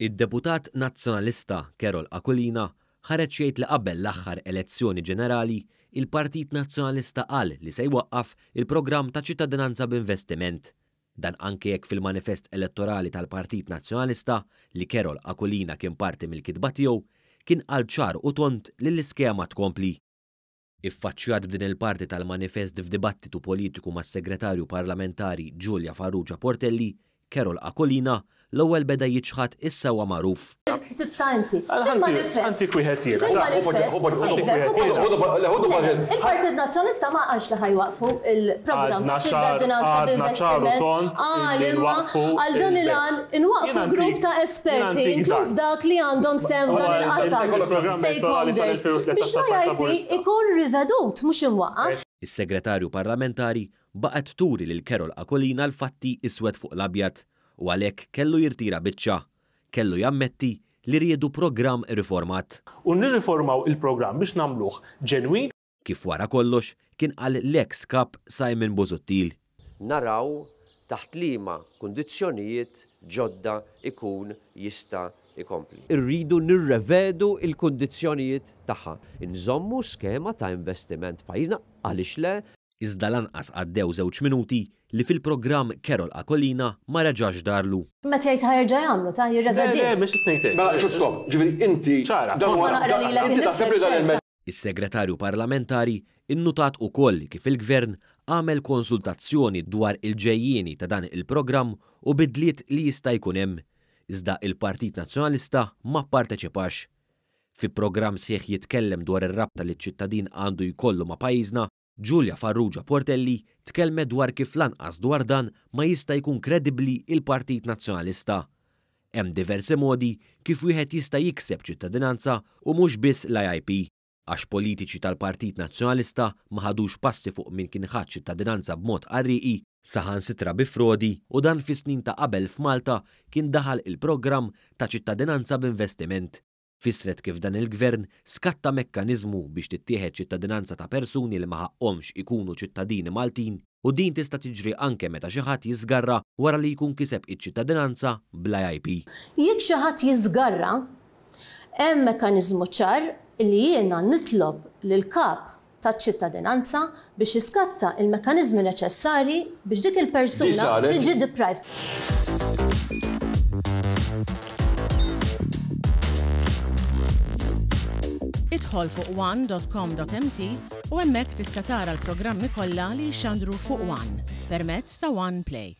Id-deputat Nazzjonalista Karol Aquilina ħareġ jgħid li qabel l-aħħar elezzjoni ġenerali, il-Partit Nazzjonalista qal li se jwaqqaf il-programm ta' ċittadinanza b'investiment. Dan anke jekk fil-manifest elettorali tal-Partit Nazzjonalista, li Karol Aquilina kien parti mill-kitba tiegħu, kien qal ċar u tond li l-iskema tkompli. Iffaċċjat b'din il-parti tal-manifest f'dibattitu politiku mas-Segretarju Parlamentari Julia Farrugia Portelli, Karol Aquilina l-ewwel beda jiċħad is-sewwa magħruf. Ktibtha inti. Fil-manifest. Fil-manifest. Il-Partit Nazzjonalista ma qalx li ħa jwaqqfu l-programm ta' ċittadinanza b'investiment. Qal imma għal dan il-għan inwaqqfu grupp ta' esperti, inkluż dak li għandhom sehem f'dan il-qasam, stakeholders, biex l-IIP ikun rivedut, mhux imwaqqaf. Is-Segretarju Parlamentari baqgħet turi lil Karol Aquilina l-fatti iswed fuq l-abjad u għalhekk kellu jirtira biċċa. Kellu jammetti li riedu programm riformat. U nirriformaw il-programm biex nagħmluh ġenwin. Kif wara kollox kien qal l-eks Kap Simon Busuttil. Naraw taħt liema kundizzjonijiet ġodda jkun jista' jkompli. Irridu nirrevedu l-kundizzjonijiet tagħha. Inżommu skema ta' investiment f'pajjiżna, għaliex le? Iżda lanqas għaddew żewġ minuti li fil-programm Karol Aquilina ma reġax darlu. Meta jgħid ħa jerġa' jagħmlu, ta' jirrevedih. Le, le, mhux qed ngħid hekk. Mela, x'hu stop? Ġifieri inti. Ċara. Dan huwa. Nista' naqra lilek Inti taħseb li dan il-messaġġ. Is-Segretarju Parlamentari nnutat ukoll kif il-Gvern għamel konsultazzjoni dwar il-ġejjieni ta' dan il-programm u bidliet li jista' jkun hemm, iżda il-Partit Nazzjonalista ma pparteċipax. Fi programm sħiħ jitkellem dwar ir-rabta li ċ-ċittadin għandu jkollu ma' pajjiżna, Julia Farrugia Portelli tkellmet dwar kif lanqas dwar dan ma jista' jkun kredibbli il-Partit Nazzjonalista. Hemm diversi modi kif wieħed jista' jikseb ċittadinanza u mhux biss l-IIP. Għax politiċi tal-Partit Nazzjonalista ma ħadux passi fuq min kien ħa ċittadinanza b'mod qarrieqi, saħansitra bi frodi u dan fis-snin ta' qabel f'Malta kien daħal il-programm ta' ċittadinanza b'investiment. Fissret kif dan il-Gvern skatta mekkaniżmu biex tittieħed ċittadinanza ta' persuni li ma ħaqqhomx ikunu ċittadini Maltin u din tista' tiġri anke meta xi ħadd jiżgarra wara li jkun kiseb iċ-ċittadinanza bl-IIP. Jekk xi ħadd jiżgarra, hemm mekkaniżmu ċar li jiena nitlob lill-Kap taċ-ċittadinanza biex jiskatta il-mekkaniżmi neċessarji biex dik il-persuna tiġi deprived. Idħol fuq one.com.mt u hemmhekk tista' tara l-programmi kollha li jixxandru fuq One permezz ta' One Play.